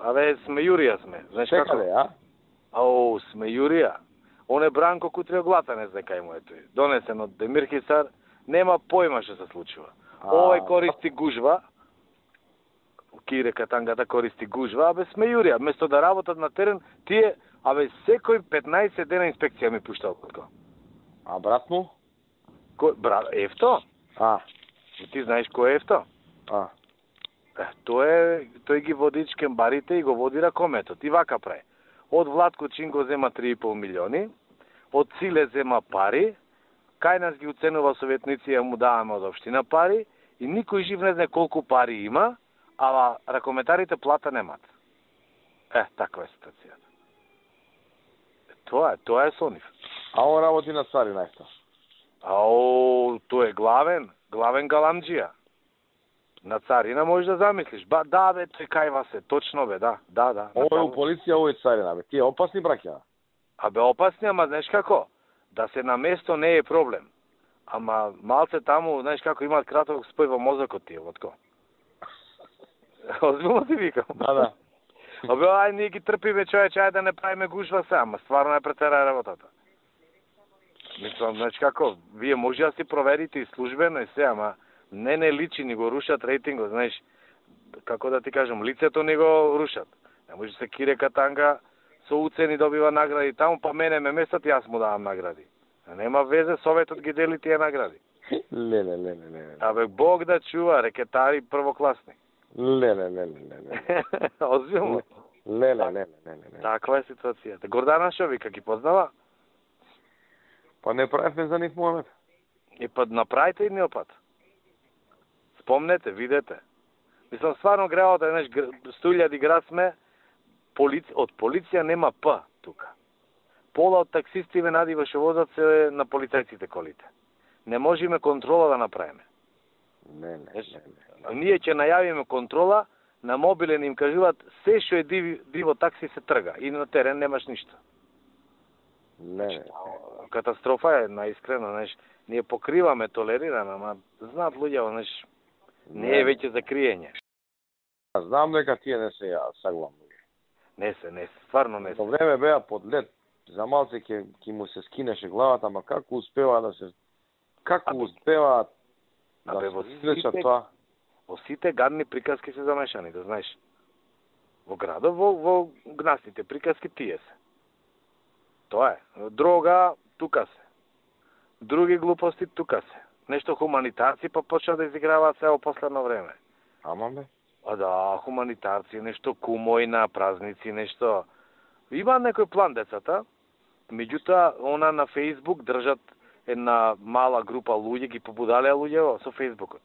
Абе, смејурија сме. Знаеш како? Секаде, а? Ау, смејурија. Он е Бранко Кутриоглата, не знае кај му е тој. Донесен од Демир Хисар, нема појма што се случува. Овој користи гужва, Кире Катангата користи гужва, абе смејурија. Место да работат на терен, тие, абе, секој 15 дена инспекција ми пушта околко. А брат му? Брат, Ефто? Ти знаеш кој е Ефто? Тој ги води чкембарите и го води ракометот. И вака прави. Од Владко Чинго зема 3,5 милиони, од Циле зема пари, кај нас ги уценува советници, ја му даваме од општина пари, и никој жив не знае колку пари има, ама ракометарите плата немат. Таква е ситуацијата. Тоа е со нив. А он работи на царина исто. Тој е главен галамџија. На царина можеш да замислиш. Да, бе, тој кајва се, точно бе, да. Ово е у полиција, ово е царина, бе. Тие опасни браќа. Абе, опасни, ама знаеш како? Да се на место не е проблем. Ама малце таму, знаеш како, имаат краток спој во мозокот тие, вотко. Озбилно ти викам. Да. Абе, ај, ние ги трпиме, човече, ај да не правиме гужва се, ама стварно е претера работата. Мислам, знаеш како, вие може да си проверите и службено и се, ама не личи, ни го рушат рейтингот, знаеш, како да ти кажам, лицето ни го рушат. Не може се Кире Катанга со уцени добива награди таму, па мене ме местат, јас му давам награди. Нема везе, советот ги дели тие награди. Леле. Абе, Бог да чува, рекетари првокласни. Леле. Озбилно. Леле. Таква е ситуацијата. Гордана Шовика ги познава? Па не правевме за нив момент. И па направите едни опат. Спомнете, видете. Мислам, стварно греот е, знаеш, 100.000 град сме, од полиција нема П тука. Пола од таксисти Венадива што возат се на полицајците колите. Не можеме контрола да направиме. Не. Ние ќе најавиме контрола, на мобилен им кажуваат се што е диво такси се трга и на терен немаш ништо. Не. Катастрофа е, наискрено, знаеш, ние покриваме, толерираме, ама знаат луѓето, знаеш, не е веќе за криење. Знам дека тие не се саглам. Не се, стварно не се. Во време беа под лед, за малце ќе му се скинеше главата, ама како успева да се... Како успева да се извлечат тоа? Во сите гадни приказки се замешани, да знаеш. Во градот, во гнасните приказки тие се. Тоа е. Дрога, тука се. Други глупости, тука се. Нешто хуманитарци па почна да изиграваат се во последно време. Ама бе? Да, хуманитарци, нешто кумој на празници, нешто... Има некој план децата, меѓутоа, она на Фейсбук држат една мала група луѓе, ги побудалеа луѓе со Фейсбукот.